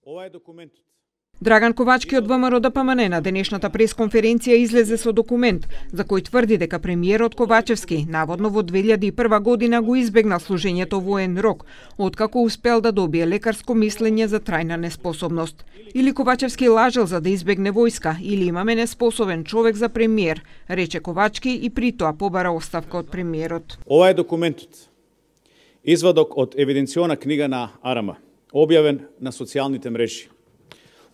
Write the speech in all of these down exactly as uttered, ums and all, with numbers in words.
Ова е документот. Драган Ковачки од ВМРО Д П М Н на денешната пресконференција излезе со документ за кој тврди дека премиерот Ковачевски наводно во две илјади и прва година го избегнал служењето воен рок, откако успел да добие лекарско мислење за трајна неспособност. Или Ковачевски лажел за да избегне војска, или имаме неспособен човек за премиер, рече Ковачки и при тоа побара оставка од премиерот. Ова е документот. Извадок од евиденциона книга на А Р М, објавен на социјалните мрежи.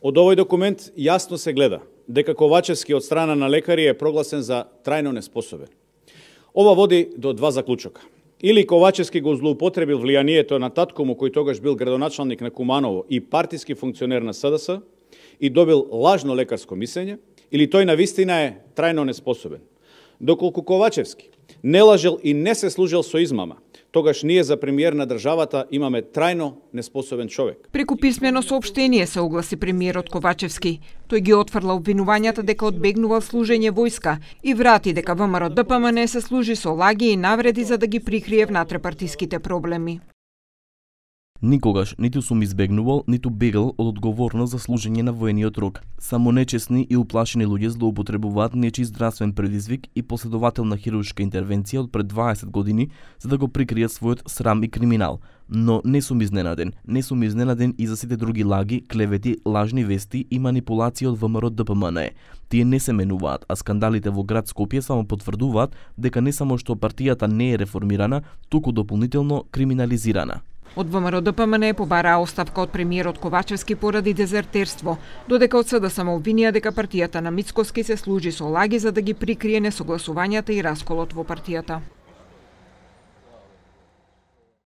Од овој документ јасно се гледа дека Ковачевски од страна на лекари е прогласен за трајно неспособен. Ова води до два заклучока. Или Ковачевски го злоупотребил влијанието на татко му, кој тогаш бил градоначалник на Куманово и партиски функционер на С Д С и добил лажно лекарско мислење, или тој навистина е трајно неспособен. Доколку Ковачевски не лажел и не се служил со измама, тогаш ние за премиер на државата имаме трајно неспособен човек. Преку писмено соопштение се огласи премиерот Ковачевски. Тој ги отфрла обвинувањата дека одбегнувал служење војска и врати дека ВМРО Д П М Н се служи со лаги и навреди за да ги прикрие внатрепартиските проблеми. Никогаш ниту сум избегнувал, ниту бегал од одговорност за служење на воениот рок. Само нечесни и уплашени луѓе злоупотребуваат нечи здравствен предизвик и последователна хируршка интервенција од пред дваесет години за да го прикријат својот срам и криминал. Но не сум изненаден. Не сум изненаден и за сите други лаги, клевети, лажни вести и манипулации од ВМРО Д П М Н. Тие не се менуваат, а скандалите во град Скопје само потврдуваат дека не само што партијата не е реформирана, туку дополнително криминализирана. Од ВМРО Д П М Н побараа оставка од премиерот Ковачевски поради дезертерство, додека од С Д С му обвинија дека партијата на Мицкоски се служи со лаги за да ги прикрие несогласувањата и расколот во партијата.